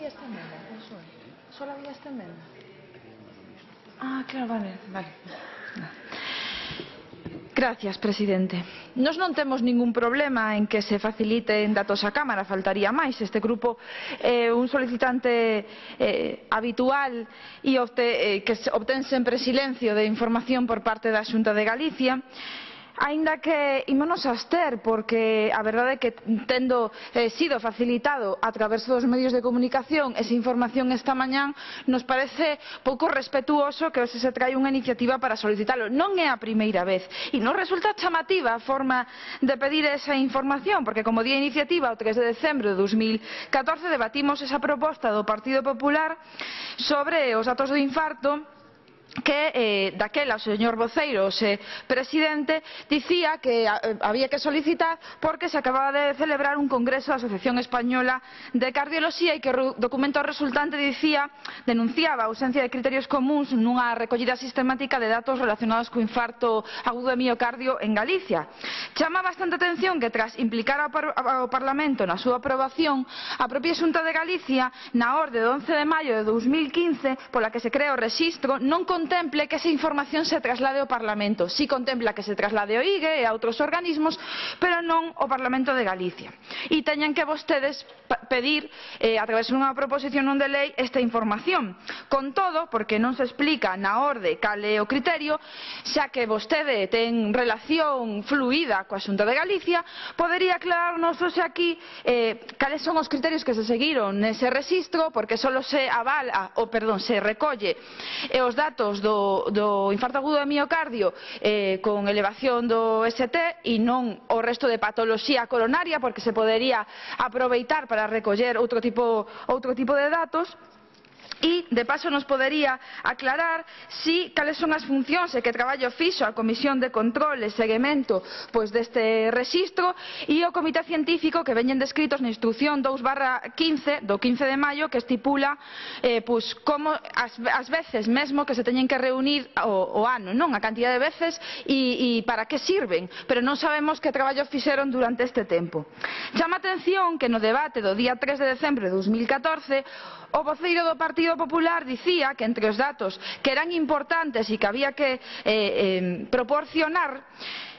esta emenda, solo había esta emenda. Ah, claro, vale. Gracias, presidente. Nós non temos ningún problema en que se faciliten datos á Cámara, faltaría máis. Este grupo é un solicitante habitual e que obtén sempre silencio de información por parte da Xunta de Galicia. Aínda que ímonos a abster, porque a verdade é que tendo sido facilitado a través dos medios de comunicación esa información esta mañán, nos parece pouco respetuoso que hoxe se trae unha iniciativa para solicitalo. Non é a primeira vez e nos resulta chamativa a forma de pedir esa información, porque como día iniciativa o 3 de decembro de 2014 debatimos esa proposta do Partido Popular sobre os datos do infarto que daquela o señor voceiro, o presidente, dicía que había que solicitar porque se acababa de celebrar un congreso da Asociación Española de Cardioloxía e que o documento resultante denunciaba a ausencia de criterios comuns nunha recollida sistemática de datos relacionados co infarto agudo de miocardio en Galicia. Chama bastante atención que tras implicar ao Parlamento na súa aprobación, a propia Xunta de Galicia, na orde de 11 de maio de 2015, pola que se crea o rexistro, non contemple que esa información se traslade ao Parlamento. Si contempla que se traslade ao IGE e a outros organismos, pero non ao Parlamento de Galicia. E teñen que vostedes pedir, a través dunha proposición non de lei, esta información. Con todo, porque non se explica na orde cal é o criterio, xa que vostede ten relación fluida coa Xunta de Galicia, podería aclararnos hoxe aquí cales son os criterios que se seguiron nese rexistro, porque só se recolle os datos do infarto agudo de miocardio con elevación do ST e non o resto de patoloxía coronaria, porque se podería aproveitar para recoller outro tipo de datos. E, de paso, nos podería aclarar cales son as funcións e que traballo fixo a Comisión de Control e Seguimento deste rexistro e o Comité Científico que veñen descritos na Instrucción 2/15 do 15 de maio, que estipula como as veces mesmo que se teñen que reunir o ano, a cantidad de veces e para que sirven, pero non sabemos que traballo fixeron durante este tempo. Chama a atención que no debate do día 3 de decembro de 2014 o voceiro do Partido Popular dicía que entre os datos que eran importantes e que había que proporcionar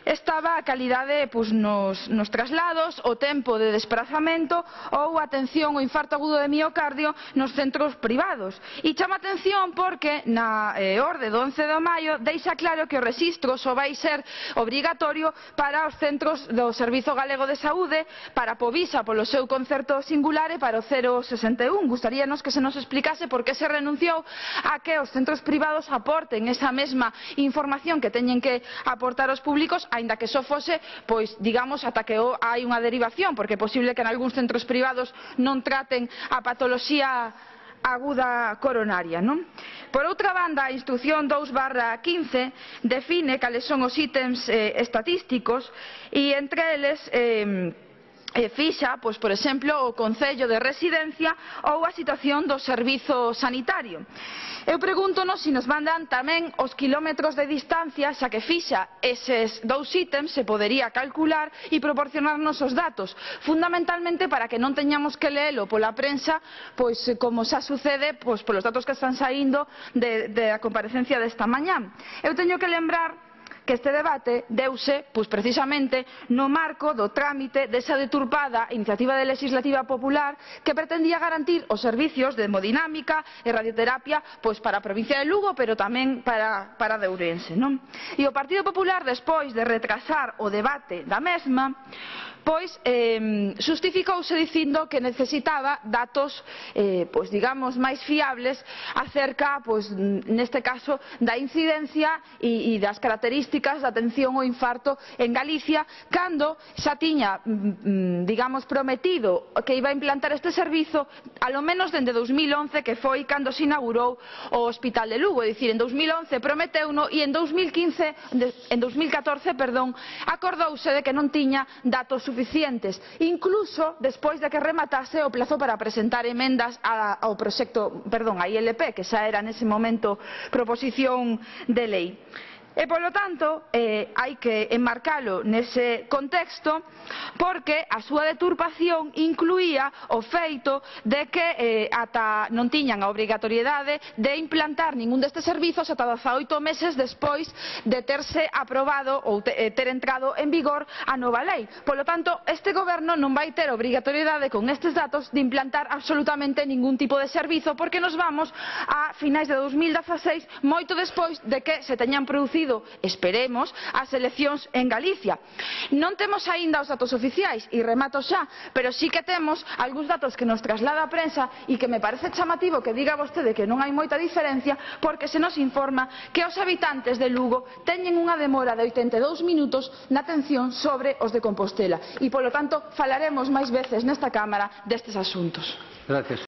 estaba a calidade nos traslados, o tempo de desplazamento ou a atención ao infarto agudo de miocardio nos centros privados. E chama atención porque na orde do 11 de maio deixa claro que o rexistro só vai ser obrigatorio para os centros do Servizo Galego de Saúde, para a Povisa polo seu concerto singular e para o 061. Gustaríanos que se nos explicase por que se renunciou a que os centros privados aporten esa mesma información que teñen que aportar os públicos, aínda que só fose, digamos, ata que hai unha derivación, porque é posible que en algúns centros privados non traten a patoloxía aguda coronaria. Por outra banda, a Instrucción 2/15 define cales son os ítems estatísticos e entre eles fixa, por exemplo, o concello de residencia ou a situación do servizo sanitario. Eu pregúntonos se nos mandan tamén os quilómetros de distancia, xa que fixa eses dous ítems, se podería calcular e proporcionarnos os datos, fundamentalmente para que non teñamos que leelo pola prensa, como xa sucede polos datos que están saindo da comparecencia desta mañá. Eu teño que lembrar que este debate deuse precisamente no marco do trámite desa deturpada iniciativa legislativa popular que pretendía garantir os servicios de hemodinámica e radioterapia para a provincia de Lugo, pero tamén para de Ourense. E o Partido Popular, despois de retrasar o debate da mesma, xustificouse dicindo que necesitaba datos digamos máis fiables acerca, neste caso, da incidencia e das características da atención ao infarto en Galicia, cando xa tiña, digamos, prometido que iba a implantar este servizo alo menos dende 2011, que foi cando se inaugurou o Hospital de Lugo. É dicir, en 2011 prometeuno e en 2014 acordouse de que non tiña datos suficientes, incluso despois de que rematase o plazo para presentar emendas ao proxecto, a ILP, que xa era nese momento proposición de lei. E, polo tanto, hai que enmarcalo nese contexto porque a súa deturpación incluía o feito de que ata non tiñan a obrigatoriedade de implantar ningún destes servizos ata 18 meses despois de terse aprobado ou ter entrado en vigor a nova lei. Polo tanto, este goberno non vai ter obrigatoriedade con estes datos de implantar absolutamente ningún tipo de servizo porque nos vamos a finais de 2016, moito despois de que se teñan producido, esperemos, as eleccións en Galicia. Non temos aínda os datos oficiais e remato xa, pero sí que temos algúns datos que nos traslada a prensa e que me parece chamativo que diga vostede que non hai moita diferencia porque se nos informa que os habitantes de Lugo teñen unha demora de 82 minutos na atención sobre os de Compostela e, polo tanto, falaremos máis veces nesta Cámara destes asuntos. Gracias.